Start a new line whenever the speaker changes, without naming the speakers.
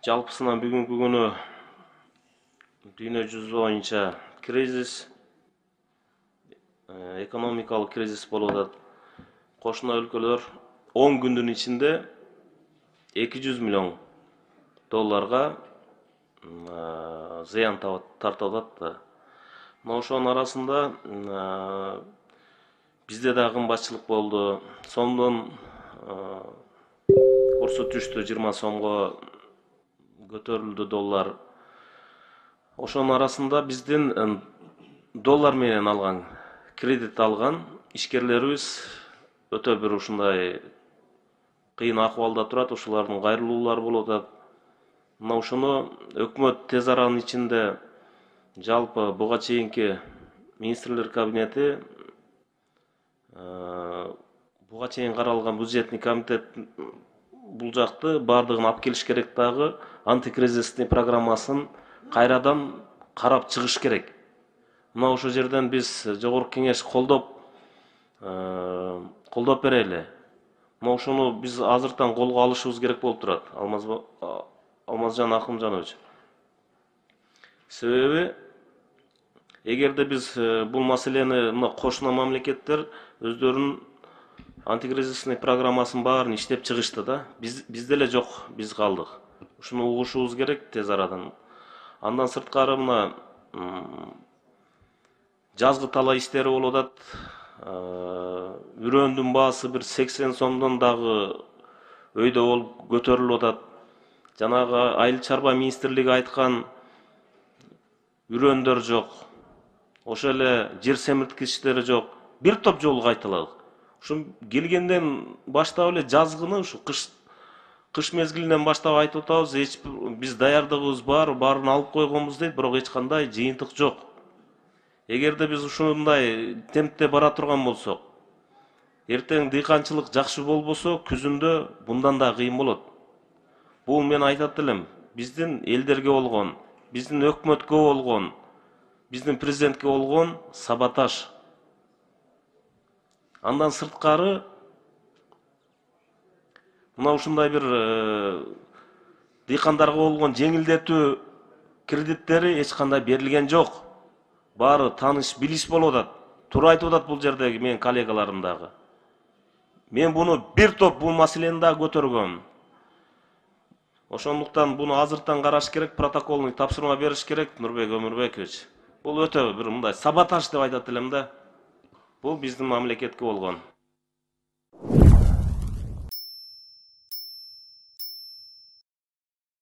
Жалпысынан бүгүнкү күнү дүйнө жүзү боюнча кризис, экономикалык кризис болуп атат. Кошуна өлкөлөр 10 күндүн ичинде 200 миллион долларга зыян тартып атат да. Мына ошонун арасында бизде да кымбатчылык болду. Сомдун курсу түштү, 20 сомго көтөрүлдү доллар. Ошонун арасында биздин доллар менен алган, кредит алган ишкерлерибиз өтө бир ушундай кыйын акыбалда турат, ушулардын кайрылуулары болуп атат. Мына ушуну өкмөт тез аранын ичинде жалпы буга чейинки министрлер кабинети, буга чейин каралган бюджетный комитет бул жакты бардыгын алып келиш керек, дагы антикризисный программасын кайрадан карап чыгыш керек. Мына ошол жерден биз жогорку кеңеш колдоп берели. Мына ошону биз азыртан колго алышыбыз керек болуп турат, Алмазжан Акымжанович. Себеби эгерде биз бул маселени мына кошуна мамлекеттер өздөрүнүн антикризисный программасын баарын иштеп чыгышты да. Бизде эле жок, биз калдык. Ушуну угушубуз керек тез арадан. Андан сырткары мына жазгы талаа иштери болуп атат. Үрөндүн баасы бир 80 сомдон дагы өйдө болуп көтөрүлүп атат. Жанагы айыл чарба министрлиги айткан үрөндөр жок. Ошо эле жер семирткичтери жок. Бир топ жолу кайталадык. Ушу келгенден баштап эле жазгыны, ушу кыш мезгилинен баштап айтып атабыз, биз даярдыгыбыз баарын алып койгонбуз дейт, бирок эч кандай жыйынтык жок. Эгерде биз ушундай темпте бара турган болсок, эртең дыйканчылык жакшы болбосо, күзүндө мындан да кыйын болот. Бул мен айтат элем, биздин элдерге болгон, биздин өкмөткө болгон, биздин президентке болгон саботаж. Андан сырткары мына ушундай бир дыйкандарга болгон жеңилдетүү кредиттери эч кандай берилген жок. Баары таныш билиш болуп атат. Туура айтып атат бул жердеги менин коллегаларым дагы. Мен буну бир топ бул маселени да көтөргөм. Ошондуктан буну азыртан караш керек, протоколный тапшырма бериш керек, Нурбек Өмүрбекович. Бул өтө бир мындай саботаж деп айтат элем да. Бул биздин мамлекетке болгон.